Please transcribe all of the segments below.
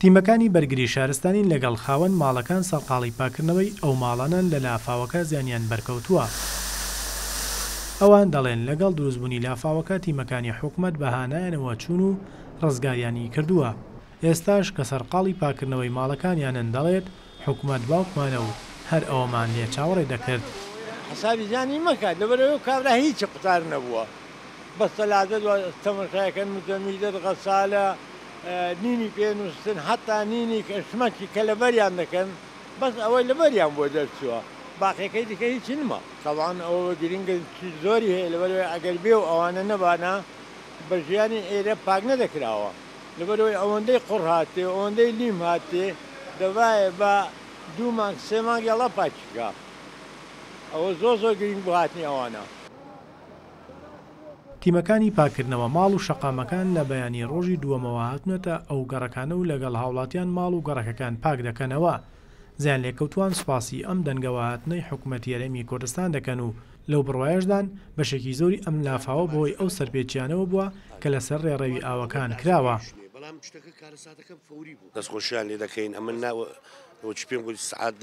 تیمەکانی بەرگری شارستانی لەگەڵ خاوەن ماڵەکان سەرقاڵی پاککردنەوەی ئەو ماڵانەن لە لافاوەکە زیانیان بەرکەوتووە. ئەوان دەڵێن لەگەڵ دروستبوونی لافاوەکە تیمەکانی حکومەت بە هانایانەوە چوون و ڕزگاریانی کردووە. ئێستاش کە سەرقاڵی پاککردنەوەی ماڵەکانیانن دەڵێت حکومەت باوکمانە و هەر ئەوەمان لێ چاوەڕێ دەکرد. حسابی زیانی مەکە لەبەرئەوەی ئەو کابرا هیچی قوتار نەبووە بەس تەلاجە دوا تەمەشایەکەن مجەمیدەت غەسالە نینی پێ نوستن حەتا نینی کە شمەکی کە لەبەریان دەکەن بەس ئەوەی لەبەریان بۆ دەرچووە باقیەکەی دیکە هیچی نما. تەبعەن ئەوە گرنگە زۆری هەیە لەبەرئەوەی ئەگەر بێ و ئەوانە نەبانە بە ژیانی ئێرە پاک نەدەکراوە لەبەرئەوەی ئەوەندەی قوڕ هاتێ و ئەوەندەی لیم هاتێ دەبایە بە دوو مانگ سێ مانگ یەڵا پاکی بکا ئەوە زۆر زۆر گرنگ بوو هاتنی ئەوانە. تیمەکانی پاککردنەوە ماڵ و شەقامەکان لە بەیانی ڕۆژی دووەمەوە هاتوونەتە ئەو گەڕەکانە و لەگەڵ هاوڵاتیان ماڵ و گەڕەکەکان پاک دەکەنەوە. زیانلێکەوتووان سوپاسی ئەم دەنگەوەهاتنەی حکومەتی هەرێمی کوردستان دەکەن و لەو بڕوایەشدان بەشێکی زۆری ئەم لافاوە بەهۆی ئەو سەرپێچییانەوە بووە کە لەسەر ڕێڕەوی ئاوەکان کراوە. دەستخۆشیان لێ دەکەین ئەمن نا وەچی پێم گوت سعات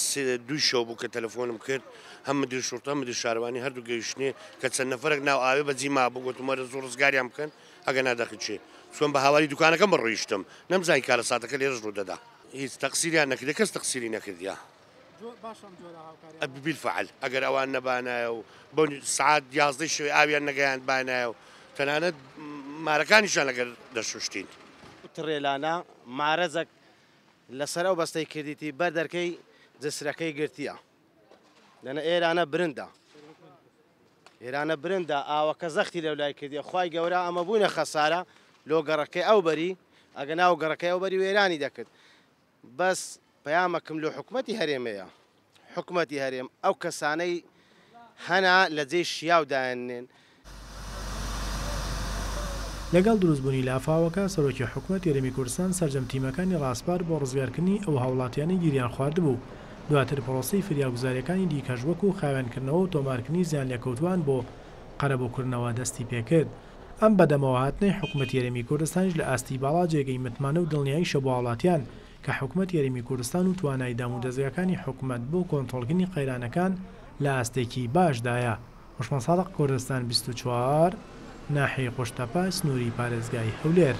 سێ دووی شەو بوو کە تەلەفۆنم کرد هەم مدیر شورتە هەم مدیر شارەوانی هەردوو گەیشتنێ کە چەند نەفەرێک ناو ئاوێ بەجی مابوو گوتم وەرە زوو ڕزگاریان بکەن ئەگەر نا دەخنچێ چۆن بە هاواری دوکانەکەم بڕۆیشتم نەمزانی کارەساتەکە لێرەش ڕوو دەدا هیچ تەقسیریان نەکردە کەس تەقسیری نەکردیە. بیلفعل ئەگەر ئەوان نەبانایە و بۆ سعات یازدەی شەوێ ئاویان نەگەیاندبانایە و تەنانەت مارەکانیشیان لەگەر دەشوشتین. تڕێلانە مارەزەک لەسەر ئەو بەستەی کردیتی بەر دەرکەی جسرەکەی گرتیە دەنە ئێرانە برندە ئێرانە برندە ئاوەکە زەختی لەو لای کردیە خوای گەورە ئەمە بووینە خەسارە لۆ گەڕەکەی ئەو بەری ئەگە ناو گەڕەکەی ئەو بەری وێرانی دەکرد بەس پەیامەکم لۆ حکومەتی هەرێمەیە حکومەتی هەرێم ئەو کەسانەی هەنا لە جێی شیاو دایاننێن. لەگەڵ دروستبوونی لافاوەکە، سەرۆکی حکومەتی هەرێمی کوردستان سەرجەم تیمەکانی ڕاسپارد بۆ ڕزگارکردنی ئەو هاوڵاتیانەی گیریان خواردبوو، دواتر پرۆسەی فریاگوزارییەکانی دیکەش وەکو خاوێنکردنەوە و تۆمارکردنی زیانلێکەوتووان بۆ قەرەبووکردنەوە دەستیپێکرد. ئەم بەدەمەوەهاتنەی حکومەتی هەرێمی کوردستانیش لە ئاستی باڵا جێگەی متمانە و دڵنیاییشە بۆ هاوڵاتیان کە حکومەتی هەرێمی کوردستان و توانای دامودەزگاکانی حکومەت بۆ کۆنتڕۆڵکردنی قەیرانەکان لە ئاستێکی باشدایە. هۆشمەند سادق کوردستان 24، ناحیەی قوشتەپە، سنووری پارێزگای هەولێر.